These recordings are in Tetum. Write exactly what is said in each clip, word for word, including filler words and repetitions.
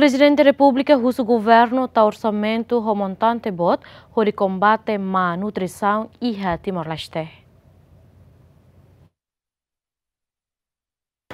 Prezidente Repúblika husu governu tau orsamentu ho montante boot hodi kombate malnutrisaun iha Timor-Leste.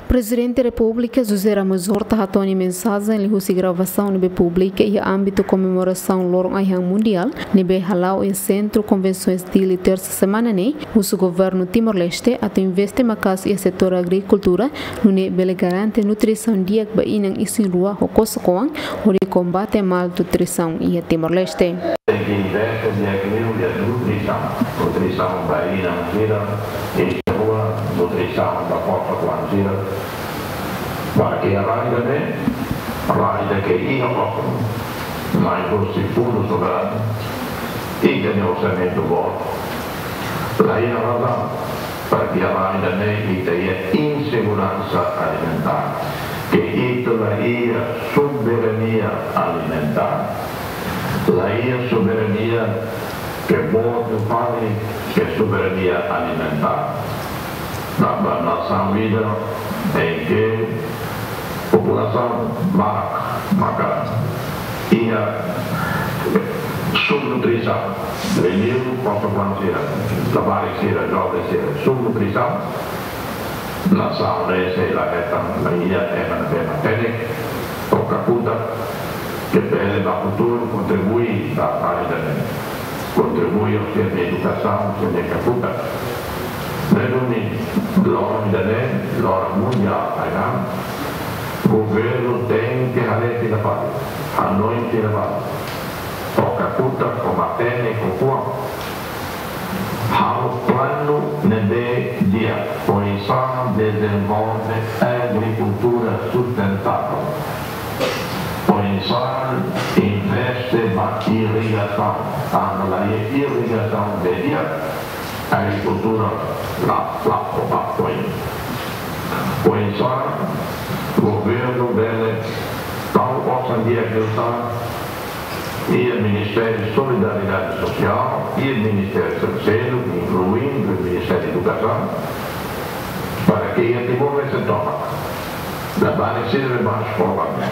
Prezidente Repúblika José Ramos Horta hato'o nia mensajen liuhusi gravasaun ne'ebé publika iha ámbitu komemorasaun Loron Ai-han Mundiál ne'ebé hala'o iha Sentru Konvensoens Dili, tersa semana ne'e, husu governu Timor-Leste atu investe maka'as iha setór agrikultura, nune'e bele garante nutrisaun di'ak ba inan isin-rua ho kosok-oan, hodi kombate malnutrisaun iha Timor-Leste. Tenke investe di'ak liu iha nutrisaun, nutrisaun ba inan sira, isin-rua, nutrisaun ba kosok-oan sira. Para ke rai ida-ne'e, rai ida ke iha osan, mai husi fundu soberanu, ita-nia orsamentu boot. La iha razaun para ke rai ida-ne'e ita iha inseguransa alimentár, ke ita la iha soberania alimentár. La iha soberania ke boot fali, ke soberania alimentár. Tanba nasaun ida em que populasaun barak maka iha subnutrisaun, liuliu kosok-oan sira, labarik sira, joven sira, subnutrisaun. Nasaun ne'e sei la hetan, la iha ema ne'ebé matenek, ou kakutak, ke bele ba futuru kontribui ba rai ida-ne'e. Kontribui ho sira-nia edukasaun, sira-nia kakutak. Ne'e duni, loron ida-ne'e, Loron Mundiál Ai-han, governu tenke haree tiha fali, hanoin tiha fali, ou kakutak, ou matenek, ou kuan, halo planu ne'ebé di'ak, oinsá dezenvolve agrikultura sustentável, oinsá investe ba irrigasaun, tanba la iha irrigasaun ne'ebé di'ak, agrikultura la, la, la foin. Oinsá governu bele tau osan di'ak liután iha Ministériu Solidariedade Sosiál, iha ministériu seluk, inkluindo Ministériu Edukasaun, para ke iha Timor-Leste tomak, labarik sira ne'ebé eskola ne'e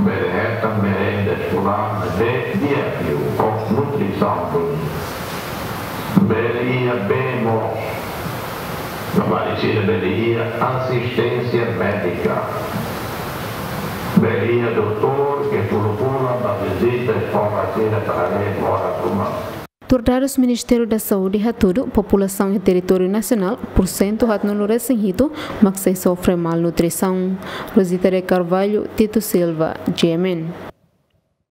bele hetan merenda eskolár ne'ebé di'ak liu, ho nutrisaun duni. Bele iha bee moos, labarik sira bele iha asisténsia médika. Bele iha doutór ke fulu-fulan bá vizita eskola sira para haree moras uma. Tuir dadus Ministériu da Saúde hatudu, populasaun iha territóriu nasionál, pursentu haatnulu-resin-hitu mak sei sofre malnutrisaun. Rosita de Carvalho, Tito Silva, G M N.